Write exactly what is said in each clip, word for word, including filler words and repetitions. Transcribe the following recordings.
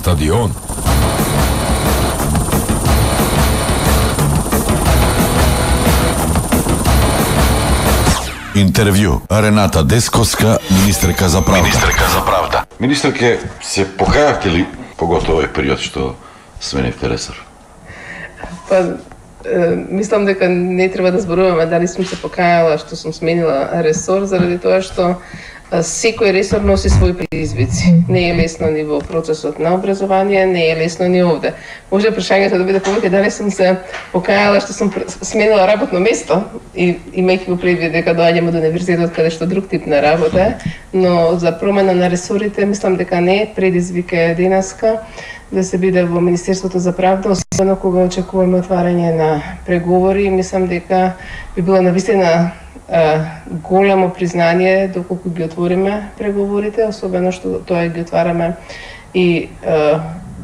Стадион. Интервју. Рената Десковска, министерка за правда. Министерка за правда. Министерке, се покајавте ли, поготово овој период што сменивте ресор? Па, е, мислам дека не треба да зборуваме дали сум се покајала што сум сменила ресор, заради тоа што секој ресор носи своји предизвици. Не е лесно ни во процесот на образование, не е лесно ни овде. Може прашањето да биде повеќе дали сум се покајала што сум сменила работно место и имајќи го предвид дека доаѓам од универзитет каде што друг тип на работа, но за промена на ресорите мислам дека не е предизвик е денеска да се биде во Министерството за правда, особено кога очекуваме отварање на преговори. Мислам дека би било навистина големо признание доколку ги отвориме преговорите, особено што тоа ги отвараме и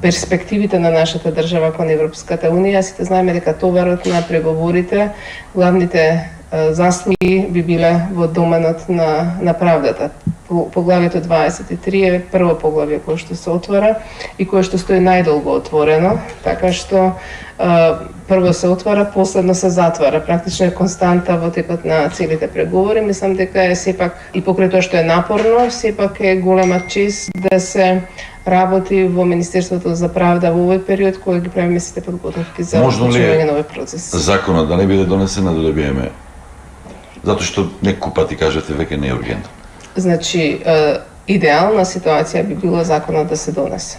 перспективите на нашата држава кон Европската Унија. Сите знаеме дека товарот на преговорите, главните заслуги би биле во доменот на, на правдата. Поглавието дваесет и три е прво поглавие кое што се отвара и кое што стои најдолго отворено, така што а, прво се отвара, последно се затвара. Практично е константа во текот на целите преговори. Мислам дека е сепак, и покрај тоа што е напорно, сепак е голема чест да се работи во Министерството за правда во овој период кој ги правиме сите подготовки за вклучување на овој процес. Законот да не биде донесен да добиеме, затоа што неколку пати кажете веќе не е ургентно. Значи, идеална ситуација би било законот да се донесе.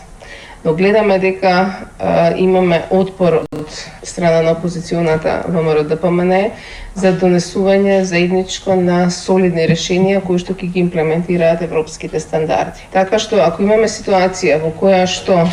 Но гледаме дека а, имаме отпор од страна на опозиционата ВМРО Д П М Н за донесување заедничко на солидни решенија кои што ќе ги имплементираат европските стандарди. Така што ако имаме ситуација во која што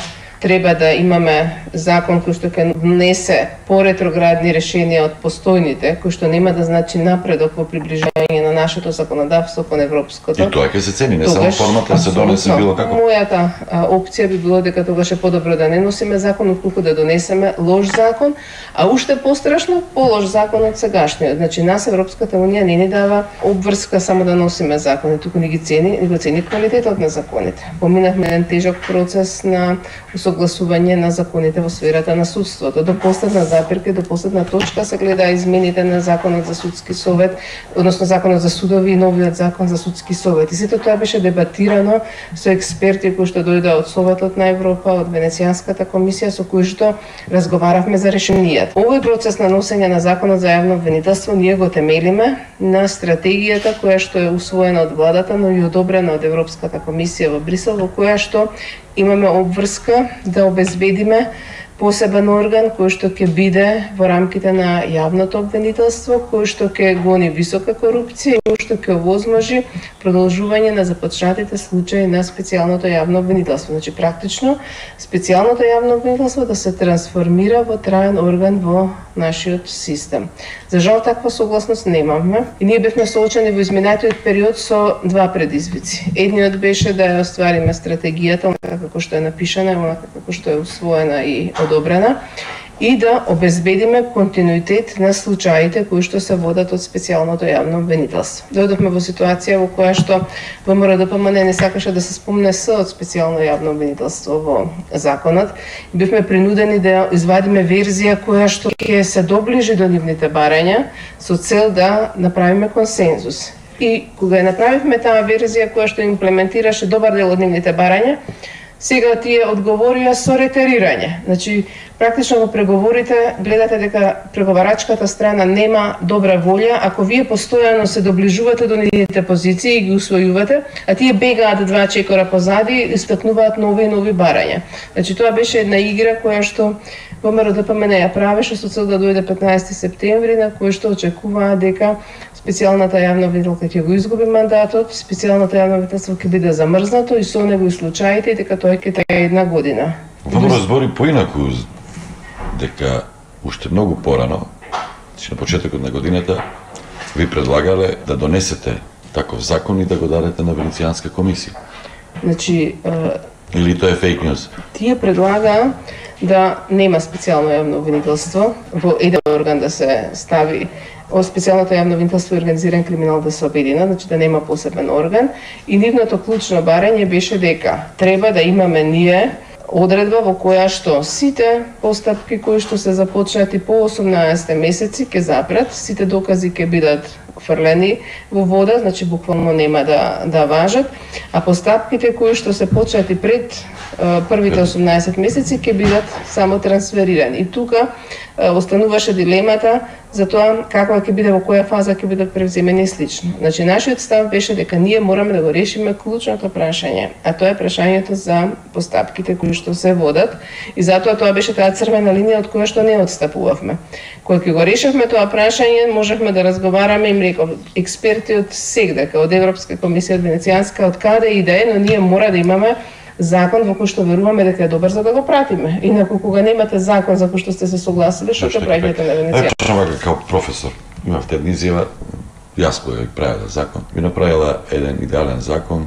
треба да имаме закон кој што ќе внесе по-ретроградни решенија од постојните, кои што нема да значи напредок во приближање на нашето законодавство кон европското. И тоа ќе се цени, не само формата се донесе било како. Мојата а, опција би било дека тогаш е подобро да не носиме закон, отколку да донесеме лош закон, а уште пострашно полош закон од сегашниот. Значи нас Европската Унија не ни дава обврска само да носиме закони, туку ни ги цени, ни го цени квалитетот на законите. Поминавме еден тежок процес на согласување на законите во сферата на судството. До последна запирка, до последна точка се гледа измените на законот за судски совет, односно законот за судови и новиот закон за судски совет. И сето тоа беше дебатирано со експерти кои што дојдоа од Советот на Европа, од Венецијанската комисија, со кои што разговаравме за решенијата. Овој процес на носење на законот за јавно обвинителство ние го темелиме на стратегијата која што е усвоена од владата, но и одобрена од Европската комисија во Брисел, во која што имаме обврска да обезбедиме посебен орган кој што ќе биде во рамките на јавното обвинителство, кој што ќе гони висока корупција и кој што ќе овозможи продолжување на започнатите случаи на специјалното јавно обвинителство. Значи практично специјалното јавно обвинителство да се трансформира во траен орган во нашиот систем. За жал таква согласност немаме и ние бевме соочени во изминатиот период со два предизвици. Едниот беше да ја оствариме стратегијата како што е напишана, онака како што е усвоена и одобрена, и да обезбедиме континуитет на случаите кои што се водат од специјалното јавно обвинителство. Дојдовме во ситуација во која што ВМРО Д П М Н не сакаше да се спомне С од специјално јавно обвинителство во законот и бивме принудени да извадиме верзија која што ќе се доближи до нивните барања со цел да направиме консензус. И кога ја направивме таа верзија која што имплементираше добар дел од нивните барања, сега тие одговорија со ретерирање. Значи, практично во преговорите гледате дека преговарачката страна нема добра волја, ако вие постојано се доближувате до нивните позиции и ги усвојувате, а тие бегаат два чекора позади и истакнуваат нови и нови барања. Значи, тоа беше една игра која што ВМРО Д П М Н ја правеше со цел да дојде петнаесети септември, на кој што очекуваа дека специјалната јавна обвинителка ќе го изгуби мандатот, специјалната јавна обвинителство ќе биде замрзнато и со него и случаите и дека тоа ќе трае една година. ВМРО збори поинаку дека уште многу порано, значи на почетокот на годината, ви предлагале да донесете таков закон и да го дадете на Венецијанска комисија. Значи, или тоа е фейк ньюс? Тие предлагаа да нема специјално јавно обвинителство, во еден орган да се стави од специјалното јавно обвинителство и организиран криминал да се обедина, значи да нема посебен орган, и нивното клучно барање беше дека треба да имаме ние одредба во која што сите постапки кои што се започнати по осумнаесет месеци ќе запрат, сите докази ќе бидат фрлени во вода, значи буквално нема да да важат, а постапките кои што се почнати пред првите осумнаесет месеци ќе бидат само трансферирани. И тука остануваше дилемата за тоа каква ќе биде, во која фаза ќе бидат превземени и слично. Значи нашиот став беше дека ние мораме да го решиме клучното прашање, а тоа е прашањето за постапките кои што се водат, и затоа тоа беше таа црвена линија од која што не отстапувавме. Кога ќе го решавме тоа прашање, можевме да разговараме, им реков, експерти од сегдека, од Европска комисија, од Венецијанска, од каде и да е, но ние мора да имаме закон во кој што веруваме дека е добар за да го пратиме. Инаку кога немате закон за кој што сте се согласили, што ќе правите на Венеција? Епошто како професор, имавте една изјава, јас која ви правила закон, ви направила еден идеален закон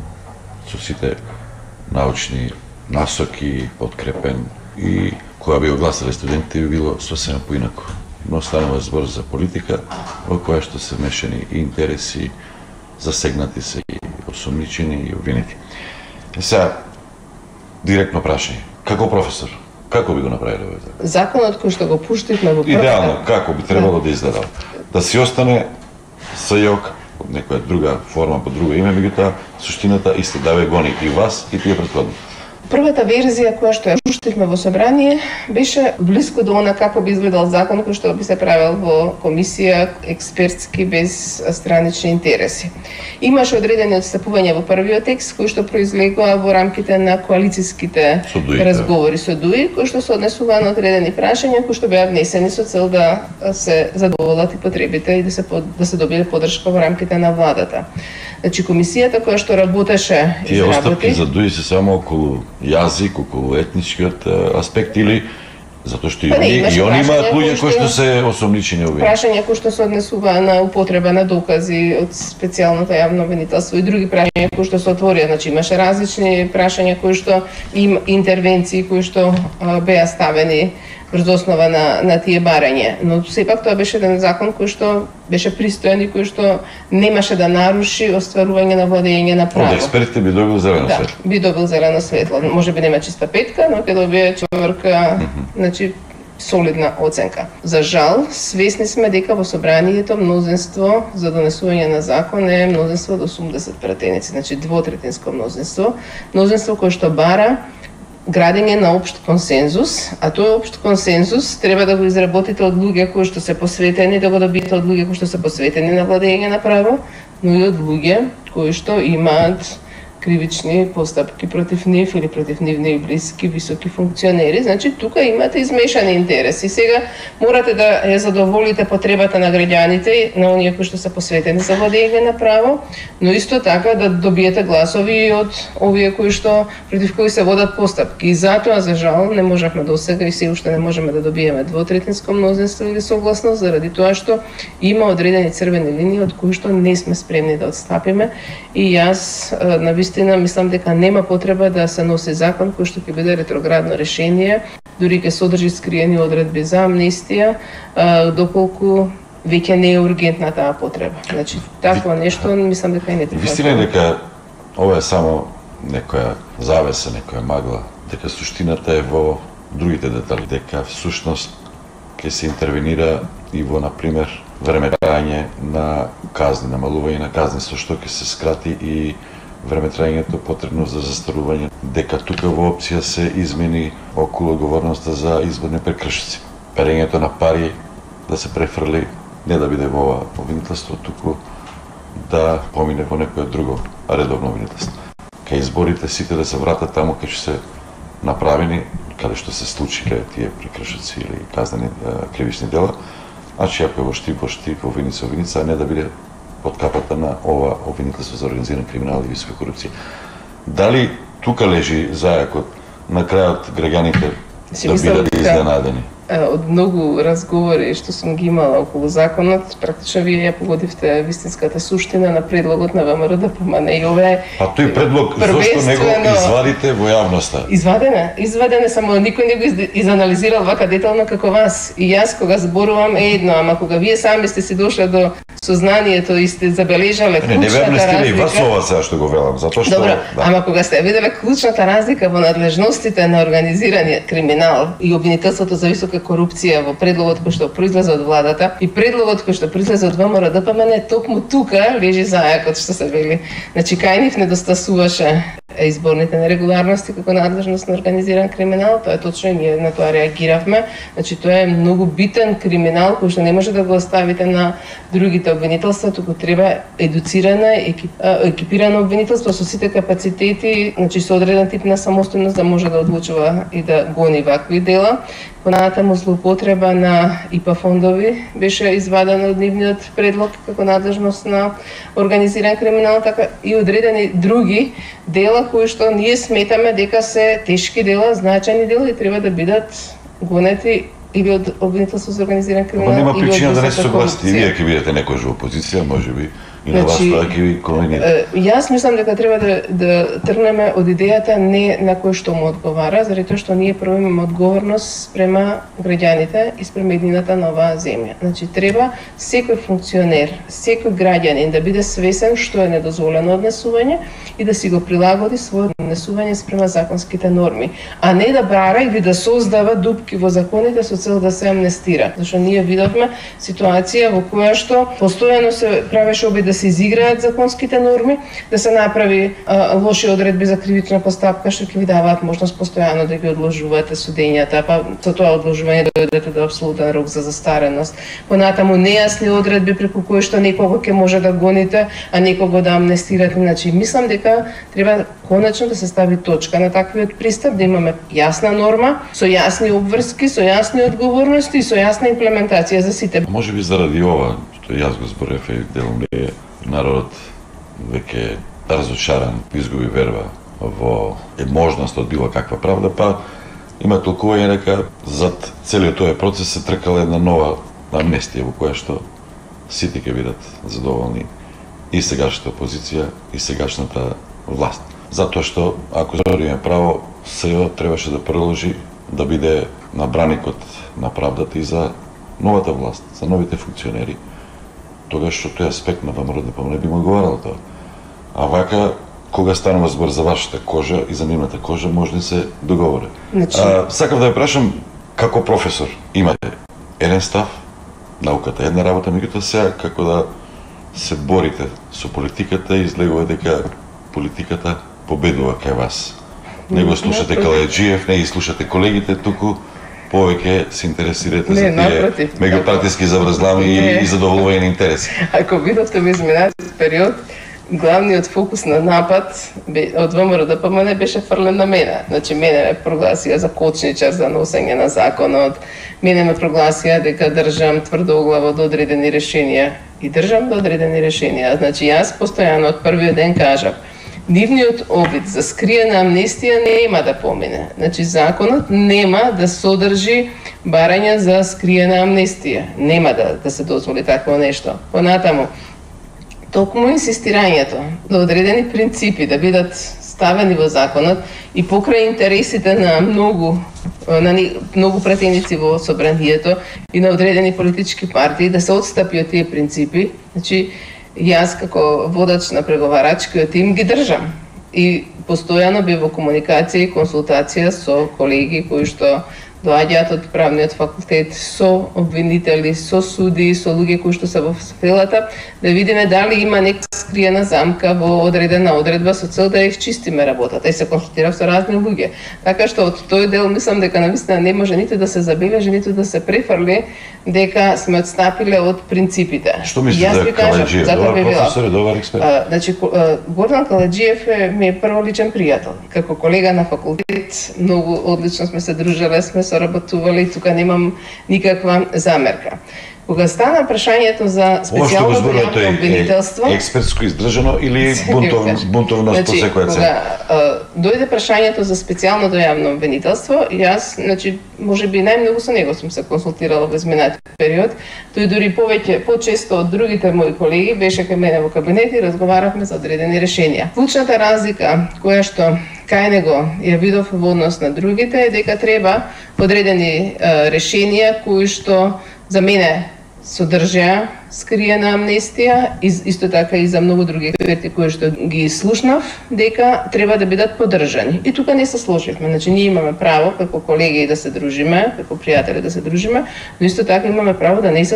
со сите научни насоки, подкрепен, и кога би огласале студентите би било сосема поинако. Но станува збор за политика во која што се мешани и интереси, засегнати се и осумничени и обвинети. Е сега, директно прашање. Како професор, како би го направиле овој закон? Законот кој што го пуштивме во првата... Идеално, како би требало да изгледал? Да си остане СЈОК, некоја друга форма, по друго име, меѓутоа суштината исто да ве гони и вас и тие претходни. Првата верзија која што ја пуштивме во собрание беше блиско до она како би изгледал закон кој што би се правил во комисија експертски без странични интереси. Имаше одредени отстапувања во првиот текст кои што произлегоа во рамките на коалициските Судуи, разговори со ДУИ, кои што се однесуваа на одредени прашања кои што беа внесени со цел да се задоволат и потребите и да се да се добие поддршка во рамките на владата. Значи комисијата која што работеше и тие остапки за ДУИ се само околу јазик, околу етничкиот аспект или затоа што и па не, они и они имаат луѓе кои кои што се осумничени обвинети. Прашања кои што се однесуваа на употреба на докази од специјалното јавно обвинителство и други прашања кои што се отворија, значи имаше различни прашања кои што им интервенции кои што а, беа ставени врз основа на, на тие барања. Но сепак тоа беше еден закон кој што беше пристоен и кој што немаше да наруши остварување на владење на право. Од експертите би добил зелено да, светло. би добил зелено светло. Може би нема чиста петка, но ќе добие четврка, mm -hmm. значи солидна оценка. За жал, свесни сме дека во собранието мнозинство за донесување на закон е мнозинство од осумдесет пратеници, значи двотретинско мнозинство, мнозинство кое што бара градење на општ консензус, а тој општ консензус треба да го изработите од луѓе кои што се посветени, да го добиете од луѓе кои што се посветени на владење на право, но и од луѓе кои што имаат кривични постапки против нив или против нивни блиски високи функционери. Значи тука имате измешани интереси. Сега морате да ја задоволите потребата на граѓаните, на оние кои што се посветени за владење на право, но исто така да добиете гласови од овие кои што против кои се водат постапки. И затоа за жал не можевме досега и се уште не можеме да добиеме двотретинско мнозинство или согласност заради тоа што има одредени црвени линии од кои што не сме спремни да отстапиме, и јас на вистина мислам дека нема потреба да се носи закон кој што ќе биде ретроградно решение, дури ќе содржи скриени одредби за амнестија, доколку веќе не е ургентна таа потреба. Значи, такво нешто мислам дека и не треба. Вистина е дека ова е само некоја завеса, некоја магла, дека суштината е во другите детали, дека всушност ќе се интервенира и во, например, време трајање на казни, намалување на казни, со што ќе се скрати и време трајањето потребно за застарување, дека тука во опција се измени околу одговорноста за изборни прекршици. Перењето на пари да се префрли не да биде во ова обвинителство, туку да помине во некое друго редовно обвинителство. Кај изборите сите да се вратат таму кај што се направени, каде што се случи кај тие прекршици или казнени кривични дела, значи ако е во штип, во штип, во виница, во виница, а не да биде под капата на ова обвинителство за организиран криминал и висока корупција. Дали тука лежи зајакот на крајот граѓаните да бидат изненадени? Од многу разговори што сум ги имала околу законот, практично вие ја погодивте вистинската суштина на предлогот на ВМРО да помане и ова. А тој предлог зошто не го извадите во јавноста? Извадене, извадене, само никој не го изанализирал вака детално како вас. И јас кога зборувам е едно, ама кога вие сами сте си дошле до сознанието и сте забележале клучната разлика. Не, не стиле и вас ова сега што го велам, затоа што... Добро, да. ама кога сте виделе клучната разлика во надлежностите на организираниот криминал и обвинителството за висока корупција во предлогот кој што произлезе од владата и предлогот кој што произлезе од ВМРО-ДПМН, токму тука лежи зајакот што се вели. Значи кај нив недостасуваше изборните нерегуларности како надлежност на организиран криминал, тоа е точно, ние на тоа реагиравме. Значи тоа е многу битен криминал кој што не може да го оставите на другите обвинителства, туку треба едуцирана, екип, екипирано обвинителство со сите капацитети, значи со одреден тип на самостојност да може да одлучува и да гони вакви дела. Понатаму злоупотреба на ИПА фондови беше извадена од нивниот предлог како надлежност на организиран криминал, така и одредени други дела кои што ние сметаме дека се тешки дела, значајни дела и треба да бидат гонети или од обвинителство за организиран криминал. Ама нема причина да не се согласите. И вие ќе бидете некој во опозиција, можеби и на вас Значи, тоа ќе ви конвенира. Јас мислам дека треба да, да тргнеме од идејата не на кој што му одговара, заради тоа што ние прво имаме одговорност спрема граѓаните и спрема едината на оваа земја. Значи треба секој функционер, секој граѓанин да биде свесен што е недозволено однесување и да си го прилагоди своето однесување спрема законските норми, а не да бара или да создава дупки во законите со цел да се амнестира. Зашто ние видовме ситуација во која што постојано се правеше обид да се изиграат законските норми, да се направи а, лоши одредби за кривична постапка што ќе ви даваат можност постојано да ги одложувате судењата, па со тоа одложување дојдете до апсолутен рок за застареност. Понатаму нејасни одредби преку кои што некого ќе може да гоните, а некого да амнестирате. Значи мислам дека треба конечно да се стави точка на таквиот пристап, да имаме јасна норма, со јасни обврски, со јасни одговорности и со јасна имплементација за сите. Може би заради ова, што јас го зборев и делом е народот веќе разочаран, изгуби верба во можност од било каква правда, па има толкување дека зад целиот тој процес се тркала една нова амнестија во која што сите ќе бидат задоволни, и сегашната опозиција и сегашната власт. Затоа што ако збориме право, СЕО требаше да продолжи да биде на браникот на правдата и за новата власт, за новите функционери, тогаш што тој аспект на ВМРО-ДПМН не би му одговарал тоа. А вака, кога станува збор за вашата кожа и за нивната кожа, може да се договори. Значи... А, сакав да ја прашам, како професор, имате еден став, науката една работа, меѓутоа сега како да се борите со политиката и излегува дека политиката победува кај вас. Не го слушате Калајаджиев, не ги слушате колегите, туку повеќе се интересирате не, за тие меѓупартиски заврзлами и, и задоволување на интереси. Ако видовте во изминатиот период, главниот фокус на напад од ВМРО-ДПМН беше фрлен на мене. Значи, мене ме прогласија за кочничар за носење на законот, мене ме прогласија дека држам тврдоглаво до одредени решенија и држам до одредени решенија. Значи, јас постојано од првиот ден кажав, нивниот обид за скриена амнестија нема да помине. Значи, законот нема да содржи барања за скриена амнестија. Нема да, да се дозволи такво нешто. Понатаму, токму инсистирањето да одредени принципи да бидат ставени во законот и покрај интересите на многу на многу пратеници во собранието и на одредени политички партии да се отстапи од тие принципи, значи јас како водач на преговарачкиот тим ги држам и постојано би во комуникација и консултација со колеги кои што доаѓаат од правниот факултет, со обвинители, со суди, со луѓе кои што се во сферата, да видиме дали има нека скриена замка во одредена одредба со цел да ја изчистиме работата и се консултирав со разни луѓе. Така што од тој дел мислам дека навистина не може ниту да се забележи, ниту да се префрли дека сме отстапиле од принципите. Што мислите за Калајаджиев? Добар професор и добар експерт. А, значи, Гордан Калајаджиев е ми е прво личен пријател. Како колега на факултет, многу одлично сме се дружеле, сме соработувале и тука немам никаква замерка. Кога стана прашањето за специјално јавно обвинителство, е експертско издржано или бунтов, бунтовност по секоја цена? Кога дојде прашањето за специјалното јавно обвинителство, јас, значи, можеби најмногу со него сум се консултирала во изминатиот период, тој дури повеќе, почесто од другите мои колеги беше кај мене во кабинет и разговаравме за одредени решенија. Клучната разлика која што кај него ја видов во однос на другите е дека треба одредени решенија кои што за мене содржија скриена амнестија, исто така и за многу други експерти кои што ги слушнав, дека треба да бидат поддржани. И тука не се сложивме. Значи ние имаме право како колеги да се дружиме, како пријатели да се дружиме, но исто така имаме право да не се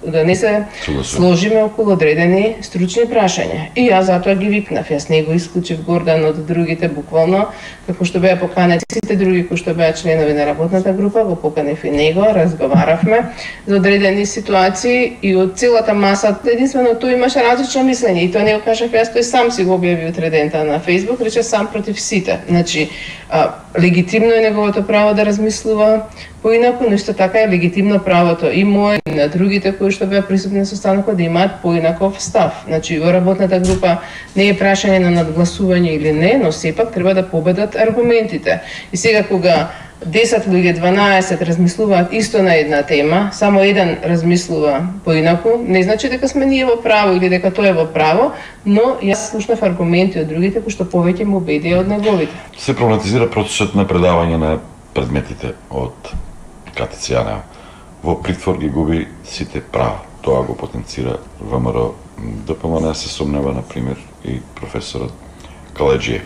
да не се сложиме околу одредени стручни прашања. И јас затоа ги викнав. Јас не го исклучив Гордан од другите буквално, како што беа поканети сите други кои што беа членови на работната група, го поканев и него, разговаравме за одредени ситуации и од целата маса единствено тој имаше различно мислење и тоа не го кажав јас, тој сам си го објави утредента на Facebook, рече сам против сите. Значи, а, легитимно е неговото право да размислува поинаку, но исто така е легитимно правото и мое и на другите кои што беа присутни на состанокот да имаат поинаков став. Значи, во работната група не е прашање на надгласување или не, но сепак треба да победат аргументите. И сега кога десет луѓе, дванаесет размислуваат исто на една тема, само еден размислува поинаку, не значи дека сме ние во право или дека тој е во право, но јас слушнав аргументи од другите кои што повеќе му убедија од неговите. Се проблематизира процесот на предавање на предметите од КТЦ Јанева. Во притвор ги губи сите права. Тоа го потенцира ВМРО ДПМН, се сомнева, например, и професорот Каледжиев.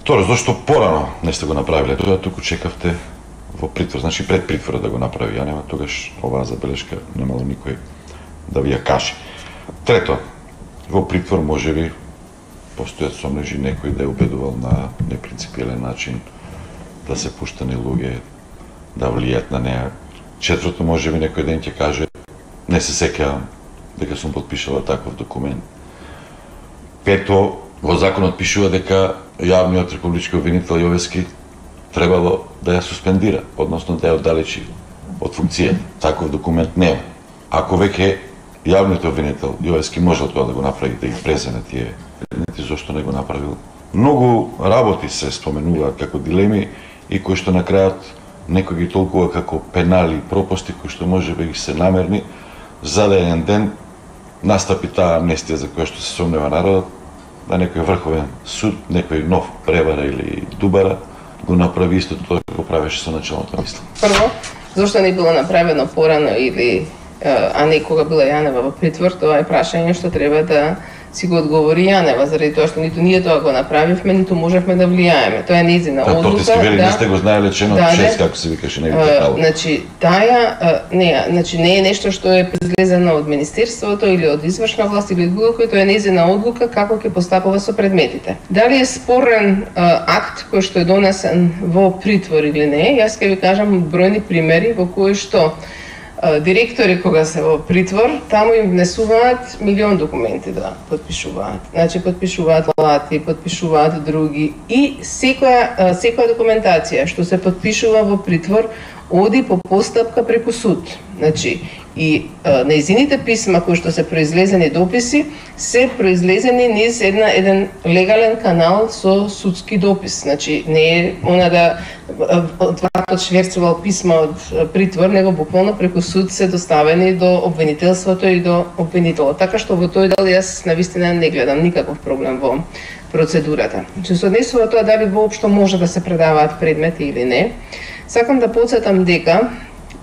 Тоа зашто порано не сте го направиле, тоа туку чекавте во притвор, значи пред притворот да го направи Јанева, тогаш оваа забелешка немало никој да ви ја каже. Трето, во притвор можеби постојат сомнежи некој да е убедувал на непринципиелен начин да се пуштани луѓе да влијат на неа. Четврто, можеби некој ден ќе каже не се сеќавам дека сум потпишала таков документ. Пето, во законот пишува дека јавниот републички обвинител Јовески требало да ја суспендира, односно да ја оддалечи од функцијата. Таков документ нема. Ако веќе јавниот обвинител Јовески можел тоа да го направи, да ги преземе тие предмети, зошто не го направил? Многу работи се споменуваат како дилеми и кои што на крајот некој ги толкува како пенали и пропусти кои што можеби ги се намерни, за да еден ден настапи таа амнестија за која што се сомнева народот, да некој врховен суд, некој нов превара или дубара го направи истото тоа го правеше со началната мисла. Прво, зошто не било направено порано или а не кога била Јанева во притвор, тоа е прашање што треба да си го одговори Јанева, заради тоа што ниту ние тоа го направивме, ниту можевме да влијаеме. Тоа е нејзина одлука. Да, Тортиски вели, да, не сте го знаеле членот да, шест, како се викаше, не ви текало. Значи, таја, не, значи не е нешто што е произлезено од Министерството или од извршна власт или од било кој, тоа е нејзина одлука како ќе постапува со предметите. Дали е спорен а, акт кој што е донесен во притвор или не, јас ќе ви кажам бројни примери во кои што директори кога се во притвор, таму им внесуваат милион документи да потпишуваат. Значи потпишуваат лати, потпишуваат други и секоја секоја документација што се потпишува во притвор оди по постапка преку суд. Значи и нејзините писма кои што се произлезени дописи се произлезени низ една еден легален канал со судски допис. Значи не е она да отвратот шверцувал писма од притвор, него буквално преку суд се доставени до обвинителството и до обвинителот. Така што во тој дел јас навистина не гледам никаков проблем во процедурата. Че се однесува тоа дали воопшто може да се предаваат предмети или не, сакам да потсетам дека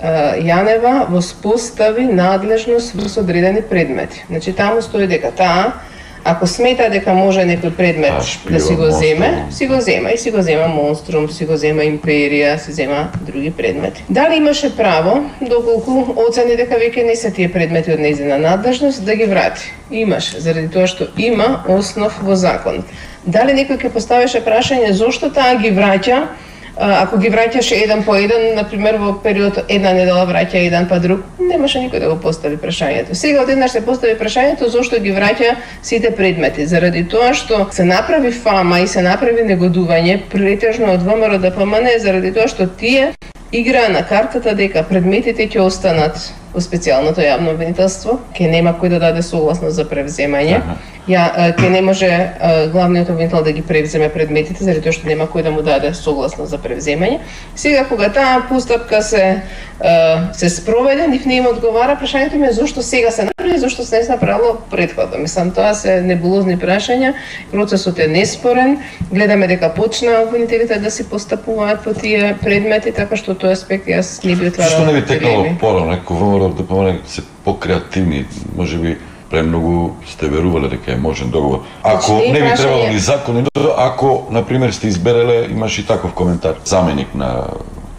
Јанева воспостави надлежност во одредени предмети. Значи таму стои дека таа, ако смета дека може некој предмет а, да си го земе, си го зема и си го зема Монструм, си го зема Империја, си зема други предмети. Дали имаше право, доколку оцени дека веќе не се тие предмети од нејзина надлежност, да ги врати? Имаше, заради тоа што има основ во законот. Дали некој ќе поставеше прашање зошто таа ги враќа? Ако ги враќаше еден по еден, например во период една недела враќа еден па друг, немаше никој да го постави прашањето. Сега одеднаш се постави прашањето зошто ги враќа сите предмети, заради тоа што се направи фама и се направи негодување претежно од ВМРО ДПМН, заради тоа што тие играа на картата дека предметите ќе останат во специјалното јавно обвинителство, ќе нема кој да даде согласност за превземање. Ја ќе не може главниот обвинител да ги превземе предметите заради тоа што нема кој да му даде согласност за превземање. Сега кога таа постапка се се спроведе, нив не им одговара, прашањето ми е зошто сега се направи, зошто се не се направило претходно. Мислам, тоа се небулозни прашања, процесот е неспорен, гледаме дека почна обвинителите да си постапуваат по тие предмети, така што тој аспект јас не би отварала. Што не би текнало порано, ако ВМРО во ДПМН се покреативни, можеби премногу сте верувале дека е можен договор. Ако не би требало ни закон, ако на пример сте избереле, имаш и таков коментар, заменик на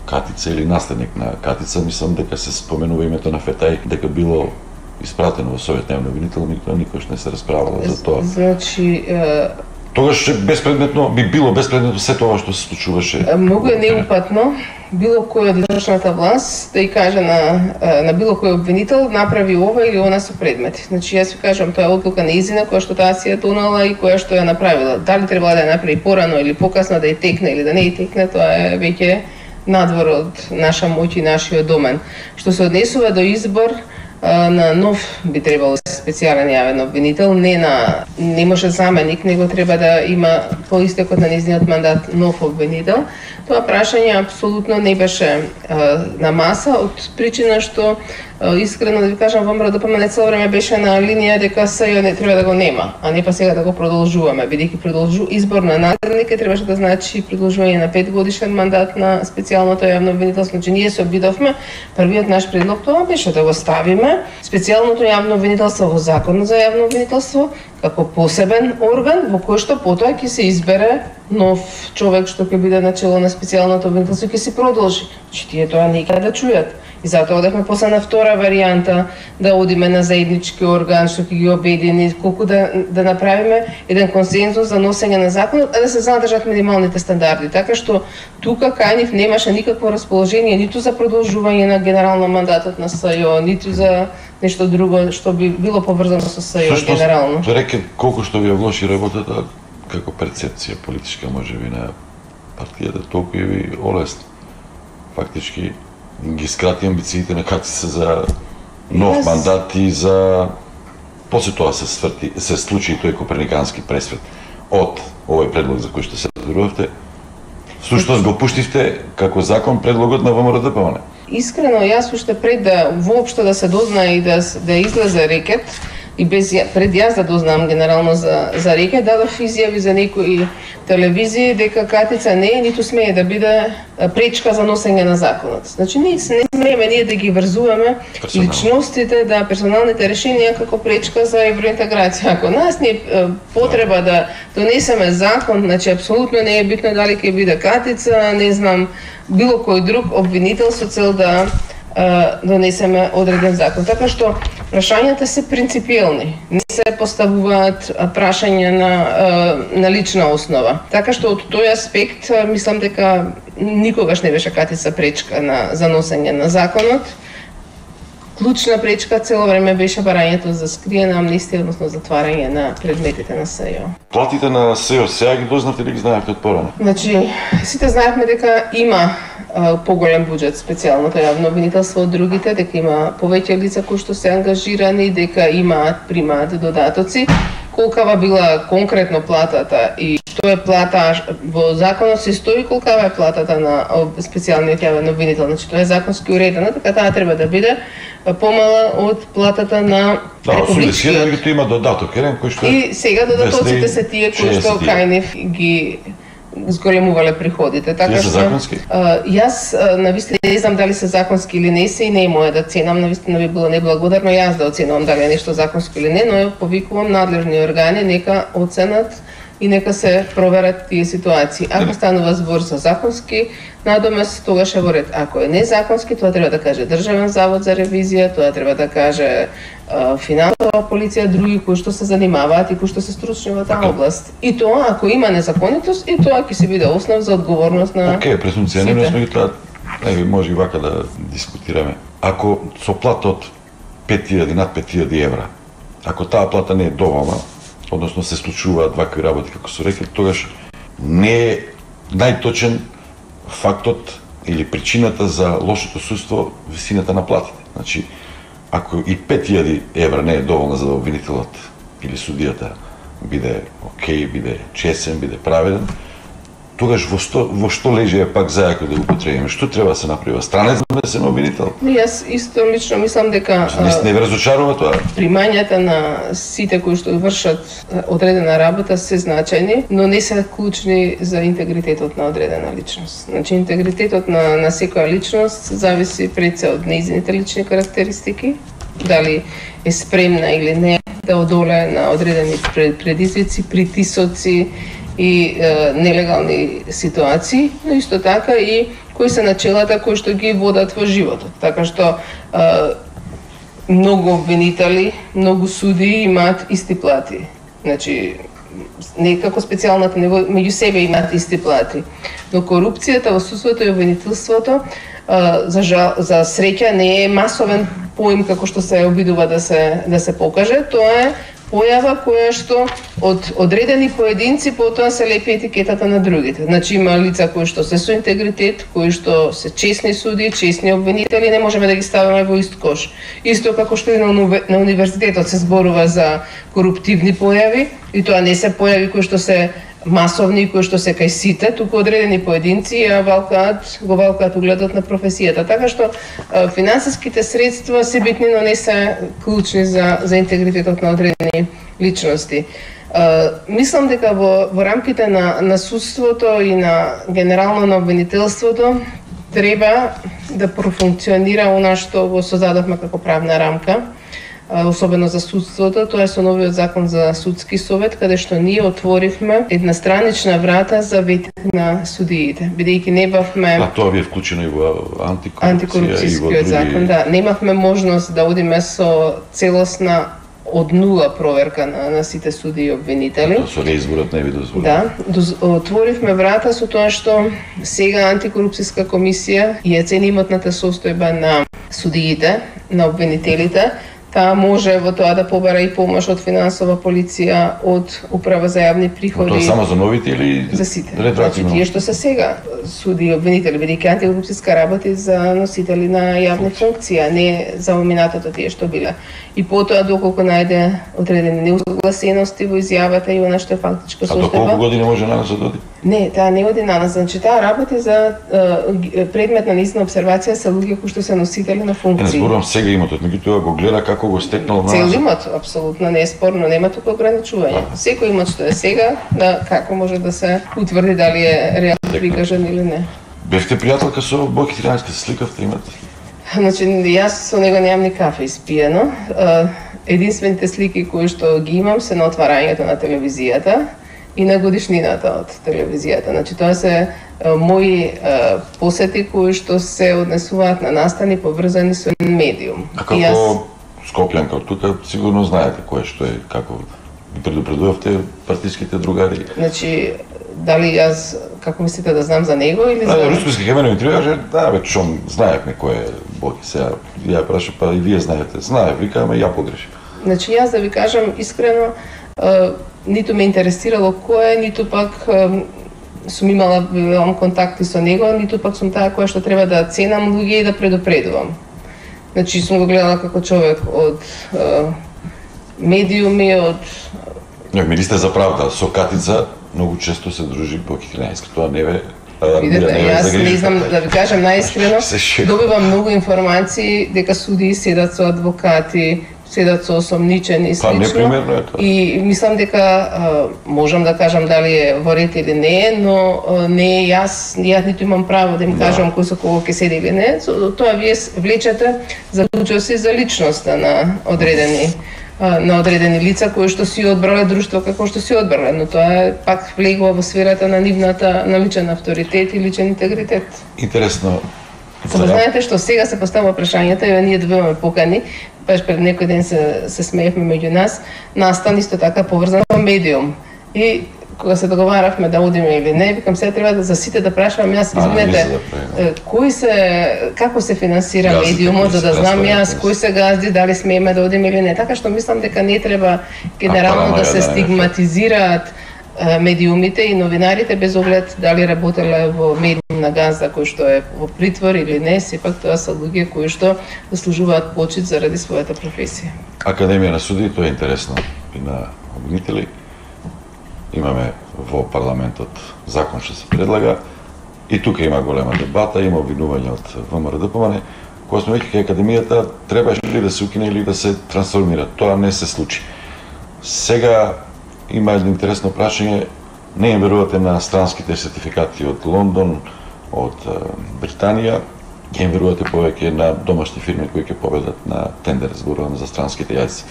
Катица или наследник на Катица, мислам дека се споменува името на Фетај, дека било испратено во Совет на јавни обвинител, никој никош не се расправало за тоа. Значи, тогаш безпредметно би било безпредметно се тоа што се случуваше. Многу е неупатно било кој од извршната власт да и каже на на било кој обвинител направи ова или она со предмети. Значи јас ви кажам, тоа е одлука неизина која што таа си ја донела и која што ја направила. Дали требала да ја направи порано или покасно, да ја текне или да не ја текне, тоа е веќе надвор од наша моќ и нашиот домен. Што се однесува до избор на нов би требало специјален јавен обвинител, не на не може заменик, него треба да има по истекот на низниот мандат нов обвинител. Тоа прашање апсолутно не беше а, на маса од причина што а, искрено да ви кажам, ВМРО ДПМН цело време беше на линија дека СЈО не треба да го нема, а не па сега да го продолжуваме, бидејќи продолжу избор на наследник требаше да значи продолжување на пет годишен мандат на специјалното јавно обвинителство. Значи ние се обидовме, првиот наш предлог тоа беше да го ставиме специјалното јавно обвинителство во Законот за јавно обвинителство како посебен орган во кој што потоа ќе се избере нов човек што ќе биде начело на специјалното обвинителство и ќе се продолжи. Значи тие тоа никаде да чујат. И затоа одевме после на втора варијанта да одиме на заеднички орган што ќе ги обедини, колку да да направиме еден консензус за носење на законот, а да се задржат минималните стандарди. Така што тука кај нив немаше никакво расположение ниту за продолжување на генерално мандатот на СЈО, ниту за нешто друго што би било поврзано со СЈО генерално. Што реке колку што ви оглоши работата како перцепција политичка можеби на партијата, толку и ви олесна. Фактички ги скрати амбициите на Катица за нов yes. мандат и за после тоа се сврти, се случи тој коперникански пресвет од овој предлог за кој што се разбирувавте. Всушност го пуштивте како закон предлогот на ВМРО ДПМН. Искрено, јас уште пред да воопшто да се дознае и да да излезе рекет и без пред јас да дознам генерално за за рекет, дадов изјави за некои телевизии дека Катица не е ниту смее да биде пречка за носење на законот. Значи ние не смееме ние да ги врзуваме личностите, да персоналните решенија како пречка за евроинтеграција. Ако нас не е потреба да донесеме закон, значи апсолутно не е битно дали ќе биде Катица, не знам, било кој друг обвинител со цел да донесеме одреден закон. Така што прашањата се принципиелни. Не се поставуваат прашања на на лична основа. Така што од тој аспект мислам дека никогаш не беше Катица пречка на за носење на законот. Клучна пречка цело време беше барањето за скриена амнестија, односно затварање на предметите на СЈО. Платите на СЈО сега ги дознавте или ги знаевте од порано? Значи, сите знаевме дека има а, поголем буџет специјалното јавно обвинителство од другите, дека има повеќе лица кои што се ангажирани, дека имаат примаат додатоци. Колкава била конкретно платата и што е плата во законот се стои колкава е платата на специјалниот јавен обвинител. Значи тоа е законски уредено, така таа треба да биде помала од платата на републичкиот. Да, има додаток, еден кој што и сега додатоците се тие кои што кај нив ги зголемувале приходите. Така што законски? А, јас навистина не знам дали се законски или не се и не е моја да ценам, навистина би било неблагодарно јас да оценувам дали е нешто законско или не, но повикувам надлежни органи нека оценат и нека се проверат тие ситуации. Ако станува збор за законски надомес, тогаш е во ред. Ако е незаконски, тоа треба да каже Државен завод за ревизија, тоа треба да каже а, финансова полиција, други кои што се занимаваат и кои што се стручни во таа област. И тоа, ако има незаконитост, и тоа ќе се биде основ за одговорност на Океј, презумција, не сме ги тоа, не може и вака да дискутираме. Ако со плата од пет илјади, над пет илјади евра, ако таа плата не е доволна, односно се случуваат вакви работи како се рекли, тогаш не е најточен фактот или причината за лошото судство висината на платите. Значи, ако и пет илјади евра не е доволна за да обвинителот или судијата биде окей, биде чесен, биде праведен, тогаш во што, во што лежи е пак зајако да го потребиме? Што треба да се направи? Странец да се обвинител? Не, јас исто лично мислам дека Не, не ве разочарува тоа? Примањата на сите кои што вршат одредена работа се значајни, но не се клучни за интегритетот на одредена личност. Значи интегритетот на на секоја личност зависи пред се од нејзините лични карактеристики, дали е спремна или не да одолее на одредени предизвици, притисоци и е, нелегални ситуации, но исто така и кои се начелата кои што ги водат во животот. Така што е, многу обвинители, многу суди имаат исти плати. Значи, некако специјалната него меѓу себе имаат исти плати. Но корупцијата во судството и обвинителството за жал, за среќа не е масовен поим како што се обидува да се да се покаже, тоа е појава која што од одредени поединци потоа се лепи етикетата на другите. Значи има лица кои што се со интегритет, кои што се честни суди, честни обвинители, не можеме да ги ставиме во ист кош. Исто како што и на, на универзитетот се зборува за коруптивни појави, и тоа не се појави кои што се масовни, кои што се кај сите, туку одредени поединци ја валкаат, го валкаат угледот на професијата. Така што финансиските средства се битни, но не се клучни за, за интегритетот на одредени личности. Мислам дека во, во рамките на, на судството и на генерално на обвинителството треба да профункционира она што го создадовме како правна рамка, особено за судството, тоа е со новиот закон за судски совет, каде што ние отворивме една странична врата за ветик на судиите, бидејќи не бавме... А тоа ви е вклучено и во антикорупција, антикорупцијскиот други... закон, да. Немавме можност да одиме со целосна од нула проверка на, на сите суди и обвинители. Тоа со реизборот не ви дозволи. Да, доз, отворивме врата со тоа што сега антикорупцијска комисија ја цени имотната состојба на судиите, на обвинителите, таа може во тоа да побара и помош од финансова полиција, од управа за јавни приходи. Но тоа само за новите или за сите? Значи тие што се сега суди и обвинители, бидејќи антикорупцијска работи за носители на јавни функции, а не за минатото тие што биле. И потоа доколку најде одредени неусогласености во изјавата и она што е фактичко состојба. А до колку години може на нас да доди? Не, таа не оди на нас. Значи таа работи за е, предмет на низна обсервација се луѓе кои што се носители на функции. Не зборувам сега имотот, меѓутоа го гледа како го стекнал на Цел имот, апсолутно не е спорно, нема тука ограничување. Да. Секој имот што е сега, да како може да се утврди дали е реално прикажан или не. Бевте пријателка со Бојки Тринајски, се сликавте, имате? Значи, јас со него немам ни кафе испиено. Единствените слики кои што ги имам се на отварањето на телевизијата и на годишнината од телевизијата. Значи, тоа се мои посети кои што се однесуваат на настани поврзани со медиум. А како јас... Скопјанка од тука, сигурно знаете кое што е, како предупредувавте партиските другари. Значи, дали јас, како мислите да знам за него или за... Да, Рускоски Хеменов интервју каже, да, бе, чом, знаевме кој е Бојки, сега ја праша, па и вие знаете, знаев, вика, ама ја погрешив. Значи, јас да ви кажам искрено, е, ниту ме интересирало кој е, ниту пак е, сум имала имам контакти со него, ниту пак сум таа која што треба да ценам луѓе и да предупредувам. Значи, сум го гледала како човек од е, медиуми, од... Не, министер за правда, со Катица многу често се дружи Бојки Тринајски, тоа не ве... Видете, јас не знам, да ви кажам најискрено, добивам многу информации дека судии седат со адвокати, седат со осомничени и слично. Па, непримерно е тоа. И мислам дека а, можам да кажам дали е во ред или не е, но а, не е јас, јас ниту имам право да им да. кажам кој со кого ќе седи или не. Со тоа вие влечете заклучоци за личноста на одредени на одредени лица кои што си одбрале друштво како што си одбрале, но тоа е пак влегува во сферата на нивната на личен авторитет и личен интегритет. Интересно. Само знаете што сега се поставува прашањето и ние добиваме покани, баш пред некој ден се се смеевме меѓу нас, настан исто така поврзан со медиум. И кога се договаравме да одиме или не, викам сега треба да за сите да прашувам јас, извинете, кои се како се финансира газди, медиумот, за да знам јас кои се газди, дали смееме да одиме или не. Така што мислам дека не треба генерално да се стигматизираат медиумите и новинарите без оглед дали работеле во медиум на газда кој што е во притвор или не, сепак тоа се луѓе кои што заслужуваат почит заради својата професија. Академија на суди, тоа е интересно и на обвинители. имаме во парламентот закон што се предлага и тука има голема дебата, има обвинување од ВМРО-ДПМН, кога сме веќе кај академијата требаше ли да се укине или да се трансформира. Тоа не се случи. Сега има едно интересно прашање, не им верувате на странските сертификати од Лондон, од Британија, ќе им верувате повеќе на домашни фирми кои ќе победат на тендер, зборувам за странските јазици.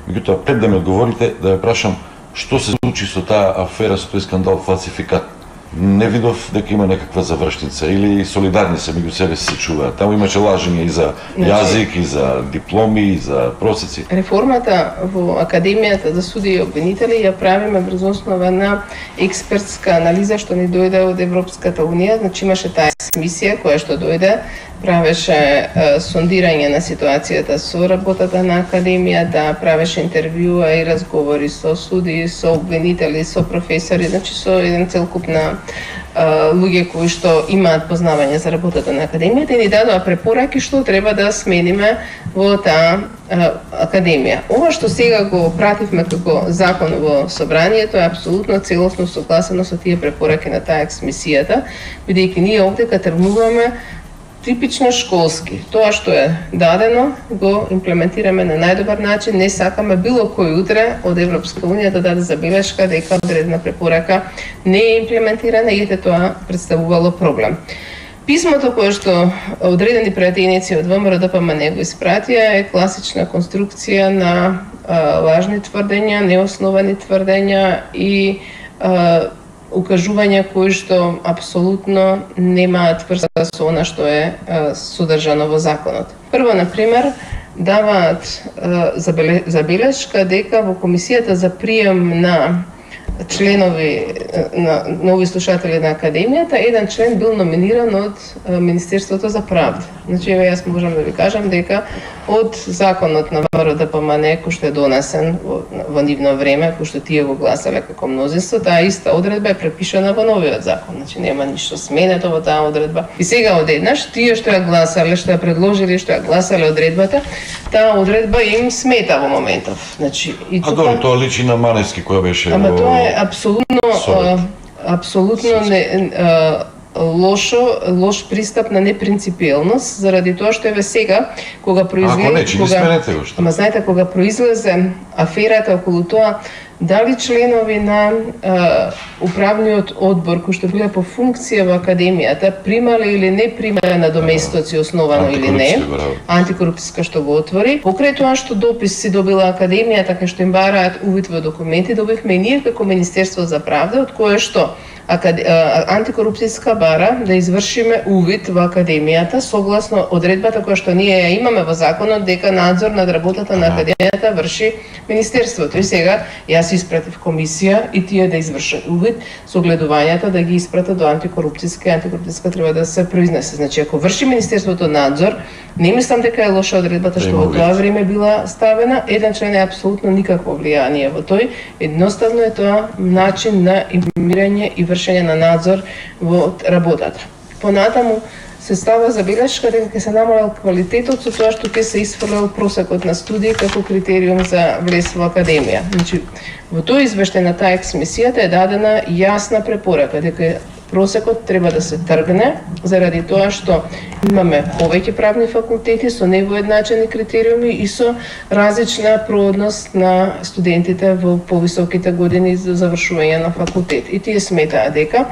Меѓутоа, пред да ми одговорите, да ве прашам што се случи со таа афера, со тој скандал фалсификат. Не видов дека има некаква завршница или солидарни се меѓу себе се чуваат. Таму имаше лажење и за јазик, и за дипломи, и за просеци. Реформата во Академијата за судии и обвинители ја правиме врз основа на експертска анализа што ни дојде од Европската унија. Значи имаше таа мисија која што дојде, правеше е, сондирање на ситуацијата со работата на Академијата, правеше интервјуа и разговори со судии, со обвинители, со професори, значи со еден целокупна луѓе кои што имаат познавање за работата на Академијата и ни дадоа препораки што треба да смениме во таа Академија. Ова што сега го пративме како закон во собранието е апсолутно целосно согласено со тие препораки на таа ексмисијата, бидејќи ние овде тргнуваме типично школски. Тоа што е дадено го имплементираме на најдобар начин, не сакаме било кој утре од Европска унија да даде забелешка дека одредена препорака не е имплементирана и ете тоа представувало проблем. Писмото кое што одредени пратеници од ВМРО-ДПМН го испратија е класична конструкција на а, лажни тврдења, неосновани тврдења и а, укажувања кои што апсолутно немаат врска со она што е а, содржано во законот. Прво, на пример, даваат а, забелешка дека во комисијата за прием на членови на нови слушатели на Академијата, еден член бил номиниран од Министерството за правда. Значи, еве јас можам да ви кажам дека од законот на ВМРО-ДПМН кој што е донесен во, во нивно време, кој што тие го гласале како мнозинство, таа иста одредба е препишана во новиот закон. Значи, нема ништо сменето во таа одредба. И сега одеднаш тие што ја гласале, што ја предложиле, што ја гласале одредбата, таа одредба им смета во моментов. Значи, и тука... А добро, тоа личи на Маневски која беше Ама во... тоа е апсолутно а, апсолутно не а, лошо, лош пристап на непринципиелност, заради тоа што еве сега кога произлезе Ако не, че кога, сменете го што. Ама знаете, кога произлезе аферата околу тоа дали членови на а, управниот одбор кои што биле по функција во Академијата примале или не примале надоместоци основано или не, антикорупцијска што го отвори. Покрај тоа што дописи добила Академијата кај што им бараат увид во документи, добивме и ние како Министерство за правда, од кое што антикорупцијска бара да извршиме увид во Академијата согласно одредбата која што ние ја имаме во законот дека надзор над работата на Академијата врши Министерството. И сега јас испратив комисија и тие да извршат увид со гледувањата да ги испратат до антикорупцијска и антикорупцијска треба да се произнесе. Значи ако врши Министерството надзор, не мислам дека е лоша одредбата што во тоа време била ставена. Еден член е апсолутно никакво влијание во тој. Едноставно е тоа начин на информирање и вршење на надзор во работата. Понатаму се става забелешка дека ќе се намалел квалитетот со тоа што ќе се исфрлел просекот на студии како критериум за влез во Академија. Значи, во тој извештај на таа ексмисијата е дадена јасна препорака дека просекот треба да се тргне заради тоа што имаме повеќе правни факултети со невоедначени критериуми и со различна проодност на студентите во повисоките години за завршување на факултет. И тие сметаа дека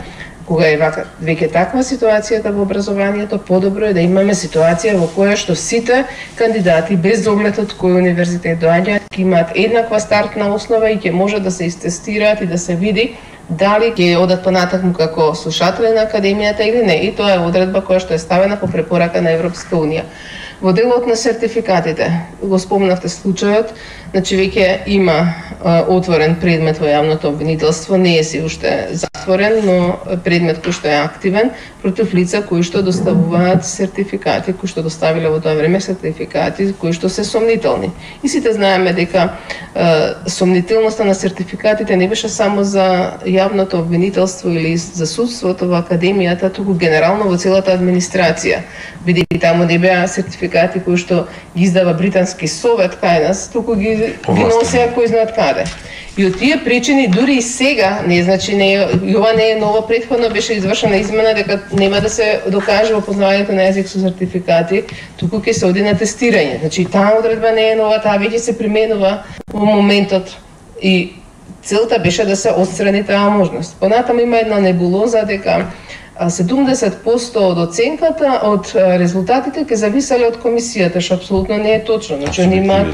кога е вака, веќе таква ситуацијата во образованието, подобро е да имаме ситуација во која што сите кандидати, без оглед од кој универзитет доаѓаат, ќе имаат еднаква стартна основа и ќе може да се истестираат и да се види дали ќе одат понатаму како слушатели на Академијата или не. И тоа е одредба која што е ставена по препорака на Европска унија. Во делот на сертификатите, го спомнавте случајот, значи веќе има а, отворен предмет во јавното обвинителство, не е си уште затворен, но предмет кој што е активен против лица кои што доставуваат сертификати, кои што доставиле во тоа време сертификати кои што се сомнителни. И сите знаеме дека а, сомнителноста на сертификатите не беше само за јавното обвинителство или за судството во Академијата, туку генерално во целата администрација, бидејќи таму не беа сертификати сертификати кои што ги издава британски совет кај нас, туку ги, ги носеа кој знаат каде. И од тие причини дури и сега, не значи не е, и ова не е ново, претходно беше извршена измена дека нема да се докаже опознавањето на јазик со сертификати, туку ќе се оди на тестирање. Значи таа одредба не е нова, таа веќе се применува во моментот и целта беше да се отстрани таа можност. Понатаму има една небулоза дека седумдесет проценти од оценката, од резултатите ќе зависеле од комисијата, што апсолутно не е точно. Значи они имаат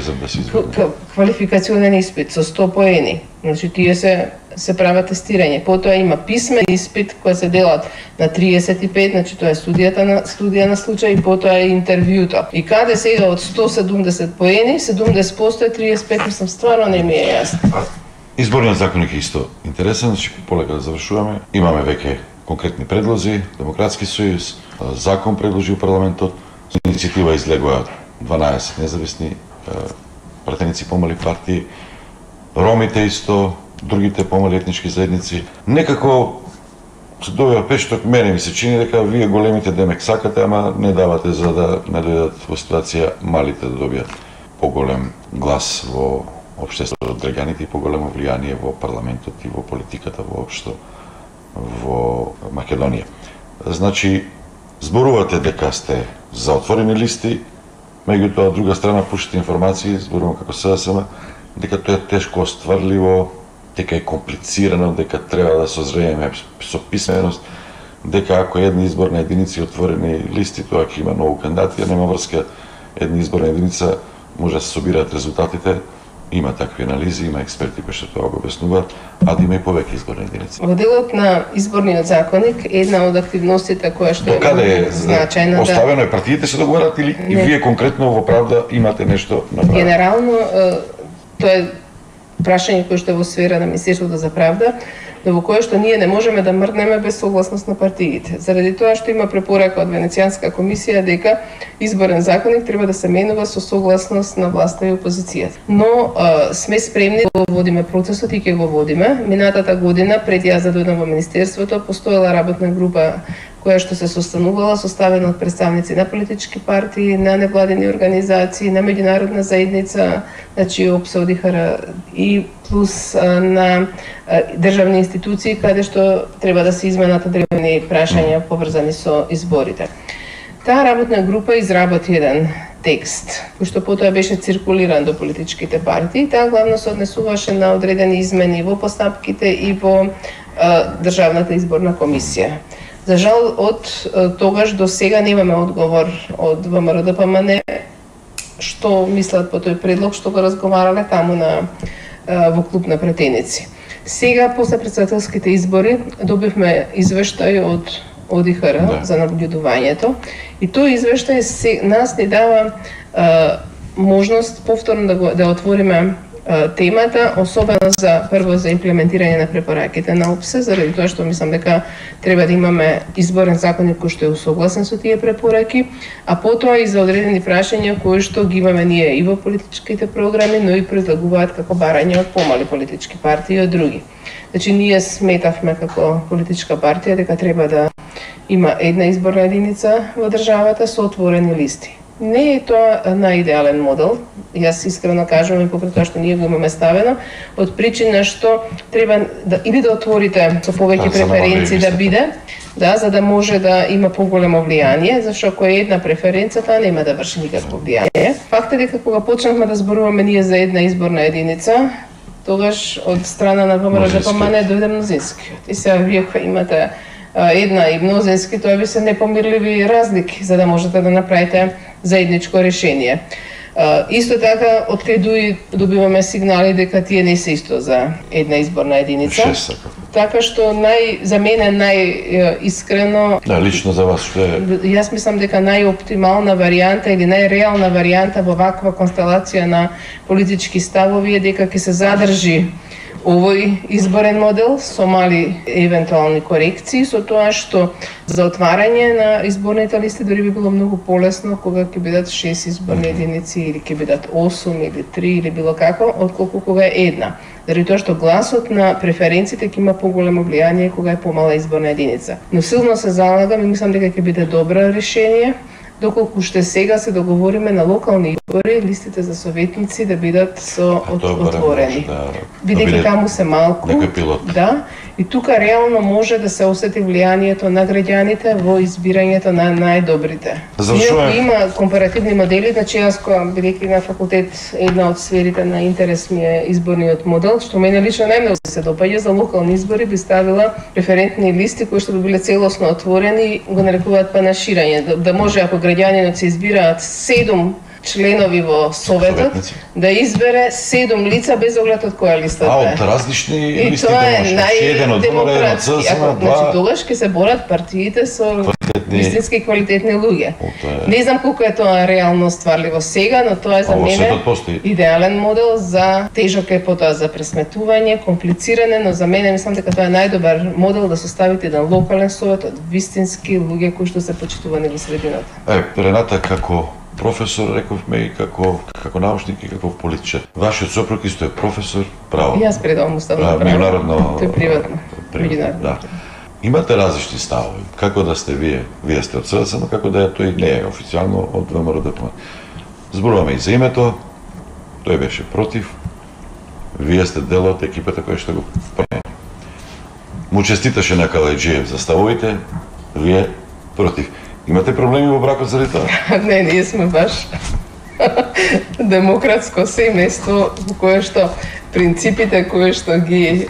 квалификационен испит со сто поени. Значи тие се се прават тестирање. Потоа има писмен испит кој се делат на триесет и пет, значи тоа е студијата на студија на случај и потоа е интервјуто. И каде сега од сто седумдесет поени, седумдесет проценти е триесет и пет, мислам стварно не ми е јасно. Изборниот законник е исто интересен, значи полека да завршуваме. Имаме веќе конкретни предлози, Демократски сојуз, закон предложи у парламентот, со иницијатива излегоа дванаесет независни пратеници помали партии, ромите исто, другите помали етнички заедници. Некако се добива пешток, мене ми се чини дека вие големите демек сакате, ама не давате за да не дојдат во ситуација малите да добијат поголем глас во општеството од граѓаните и поголемо влијание во парламентот и во политиката воопшто во Македонија. Значи, зборувате дека сте за отворени листи, меѓутоа од друга страна пушите информации, зборувам како СДСМ, дека тоа е тешко остварливо, дека е комплицирано, дека треба да созрееме со писменост, дека ако една изборна единица и отворени листи, тоа ќе има многу кандидати, а нема врска една изборна единица, може да се собираат резултатите. Има такви анализи, има експерти кои што тоа го објаснуваат, а да има и повеќе изборни единици. Во делот на изборниот законник, една од активностите која што е значајна, да оставено е партиите се договарат или не. И вие конкретно во Правда имате нешто направено? Генерално тоа е прашање кое што е во сфера на Министерството за правда, но во кое што ние не можеме да мрднеме без согласност на партиите. Заради тоа што има препорака од Венецијанска комисија дека изборен законник треба да се менува со согласност на власта и опозицијата. Но а, сме спремни да водиме процесот и ќе го водиме. Минатата година, пред јас да дојдам во Министерството, постоела работна група која што се состанувала, составена од представници на политички партии, на невладени организации, на меѓународна заедница, значи ОПСО, ОДИХР и плюс а, на а, државни институции, каде што треба да се изменат одредени прашања поврзани со изборите. Таа работна група изработи еден текст, кој што потоа беше циркулиран до политичките партии. Таа главно се однесуваше на одредени измени во постапките и во а, Државната изборна комисија. За жал, од тогаш до сега немаме одговор од ВМРО-ДПМН што мислат по тој предлог што го разговарале таму на во клуб на пратеници. Сега, после претседателските избори, добивме извештај од ОДИХР да. за наблюдувањето и тој извештај се, нас ни дава а, можност повторно да, го, да отвориме темата, особено за прво за имплементирање на препораките на ОПСЕ, заради тоа што мислам дека треба да имаме изборен законник кој што е усогласен со тие препораки, а потоа и за одредени прашања кои што ги имаме ние и во политичките програми, но и предлагуваат како барање од помали политички партии и од други. Значи ние сметавме како политичка партија дека треба да има една изборна единица во државата со отворени листи. Не е тоа најидеален модел, јас искрено кажувам и покрај тоа што ние го имаме ставено, од причина што треба да или да отворите со повеќе преференции да биде, да, за да може да има поголемо влијание, зашто ако е една преференција, таа нема да врши никакво влијание. Факт е дека кога почнавме да зборуваме ние за една изборна единица, тогаш од страна на ВМРО-ДПМН дојде мнозинскиот. И сега вие кои имате една и мнозински, тоа би се непомирливи разлики за да можете да направите заедничко решение. Uh, исто така, откај добиваме сигнали дека тие не се исто за една изборна единица. Шест, така што нај за мене најискрено, да, лично за вас што е? Јас мислам дека најоптимална варијанта или најреална варијанта во ваква констелација на политички ставови е дека ќе се задржи овој изборен модел со мали евентуални корекции, со тоа што за отварање на изборните листи дори би било многу полесно кога ќе бидат шест изборни единици или ќе бидат осум или три или било како, отколку кога е една. Заради тоа што гласот на преференциите ќе има поголемо влијание кога е помала изборна единица. Но силно се залагам и мислам дека ќе биде добро решение доколку уште сега се договориме на локални избори листите за советници да бидат со от, отворени. Да, бидејќи да таму се малку. Некој пилот. Да, и тука реално може да се осети влијанието на граѓаните во избирањето на најдобрите. Иако има компаративни модели, значи јас која бидејќи на факултет една од сферите на интерес ми е изборниот модел, што мене лично најмногу се допаѓа, за локални избори би ставила референтни листи кои што би биле целосно отворени, го нарекуваат панаширање, да, да може ако граѓанинот се избираат седум членови во советот, да избере седум лица без оглед од која листа е. А, од различни листи да може. Еден од ВМР, еден од ЦСМ, два. Значи, тогаш ќе се борат партиите со вистински квалитетни луѓе. Не знам колку е тоа реално стварливо сега, но тоа е за мене идеален модел за тежок е потоа за пресметување, комплициране, но за мене мислам дека тоа е најдобар модел да составите еден локален совет од вистински луѓе кои што се почитувани во средината. Е, Рената, како професор, рековме, и како како научник и како политичар. Вашиот сопруг исто е професор, право. Јас предавам уставно право. Меѓународно. Тој е приватно. Меѓународно. Да. Имате различни ставови. Како да сте вие? Вие сте од СДСМ, како да е тој не е официјално од ВМРО-ДПМН. Зборуваме и за името. Тој беше против. Вие сте дел од екипата која што го промени. Му честиташе на Калајџиев за ставовите. Вие против. Имате проблеми во бракот заради тоа? Не, ние сме баш демократско семејство во кое што принципите кои што ги е,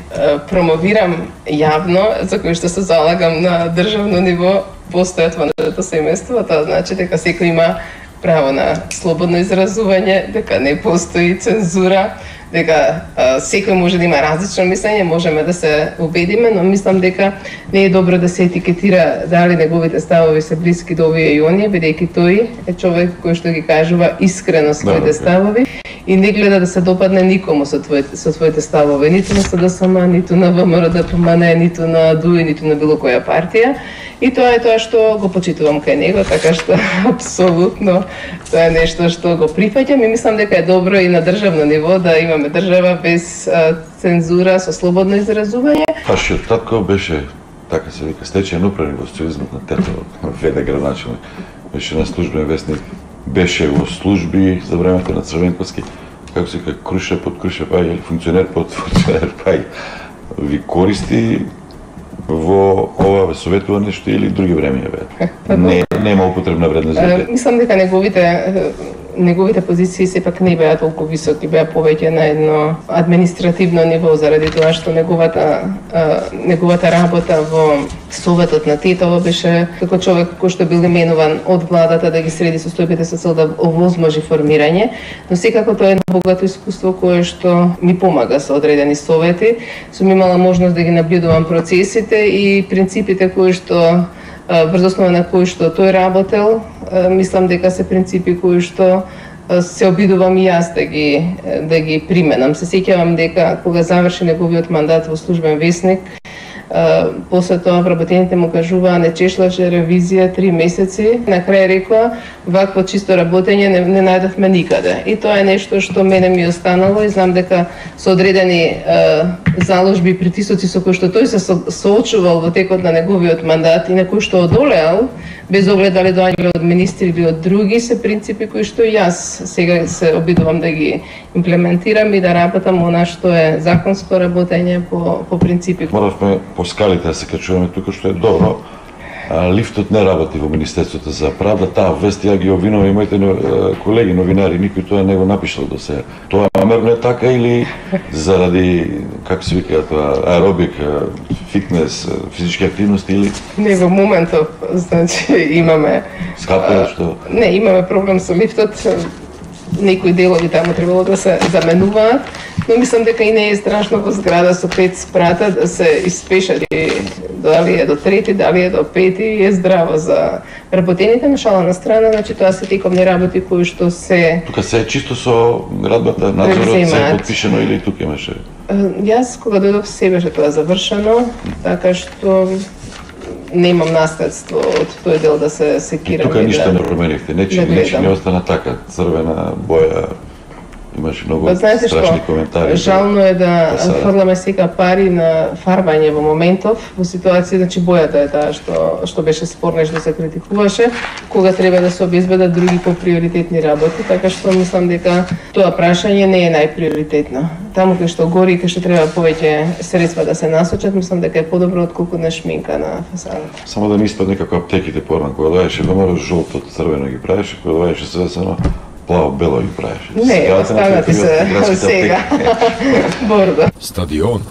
промовирам јавно, за кои што се залагам на државно ниво, постојат во нашето семејство. Тоа значи дека секој има право на слободно изразување, дека не постои цензура, дека а, секој може да има различно мислење, можеме да се убедиме, но мислам дека не е добро да се етикетира дали неговите ставови се блиски до овие и оние, бидејќи тој е човек кој што ги кажува искрено своите да, ставови и не гледа да се допадне никому со твоите со своите ставови, ниту на СДСМ, ниту на ВМРО-ДПМН, ниту на ДУИ, ниту на било која партија. И тоа е тоа што го почитувам кај него, така што апсолутно тоа е нешто што го прифаќам и мислам дека е добро и на државно ниво да имаме држава без а, цензура, со слободно изразување. Вашиот татко беше, така се вика, стечаен управник во социјализмот на тето, веде градоначелник. Беше на службен вестник, беше во служби за времето на Црвенковски, како се вика, круша под круша пај, или функционер под функционер пај. Ви користи во ова советува нешто или други времења бе? Не, нема употребна вредност за те. Мислам дека неговите неговите позиции сепак не беа толку високи, беа повеќе на едно административно ниво заради тоа што неговата неговата работа во советот на Тетово беше како човек кој што бил именуван од владата да ги среди состојбите со цел да овозможи формирање, но секако тоа е едно богато искуство кое што ми помага со одредени совети. Сум имала можност да ги наблюдувам процесите и принципите кои што врз основа на кои што тој работел, мислам дека се принципи кои што се обидувам и јас да ги да ги применам. Се сеќавам дека кога заврши неговиот мандат во службен весник, после тоа вработените му кажуваа не чешлаше ревизија три месеци, на крај рекоа вакво чисто работење не, не најдовме никаде. И тоа е нешто што мене ми останало и знам дека со одредени е, заложби и притисоци со кои што тој се со, соочувал во текот на неговиот мандат и на кои што одолеал, без оглед дали доаѓале од министри или од други, се принципи кои што јас сега се обидувам да ги имплементирам и да работам она што е законско работење по, по принципи. Моравме по скалите да се качуваме тука, што е добро. А, лифтот не работи во Министерството за правда, таа вест ја ги обвинува и моите колеги новинари, никој тоа не го напишал до сега. Тоа намерно е така или заради, како се вика тоа, аеробик, фитнес, физички активности или? Не, во моментов, значи имаме... Скапе, што? Не, имаме проблем со лифтот, некои делови таму требало да се заменуваат, но мислам дека и не е страшно во зграда со пет спрата да се испешат и дали е до трети, дали е до пети, е здраво за работените, на шала на страна, значи тоа се тековни работи кои што се... Тука се е чисто со радбата, надзорот се е подпишено или тука имаше? Јас кога дојдов се беше тоа завршено, така што немам наследство од тој дел да се секирам. Тука ништо да, не променихте, нечи, да нечи не остана така, црвена боја, имаше многу Па знаете страшни што, коментари. жално е да Фасада. фрламе сега пари на фарбање во моментов, во ситуација, значи бојата е таа што што беше спорна и што се критикуваше, кога треба да се обезбедат други поприоритетни работи, така што мислам дека тоа прашање не е најприоритетно. Таму кај што гори и кај што треба повеќе средства да се насочат, мислам дека е подобро отколку на шминка на фасадата. Само да не испадне како аптеките порано, кога доаѓаше ВМРО жолто, црвено ги правеше, кога доаѓаше свесено, плаво-бело ги правеше. Не, останати се сега. Бордо. Стадион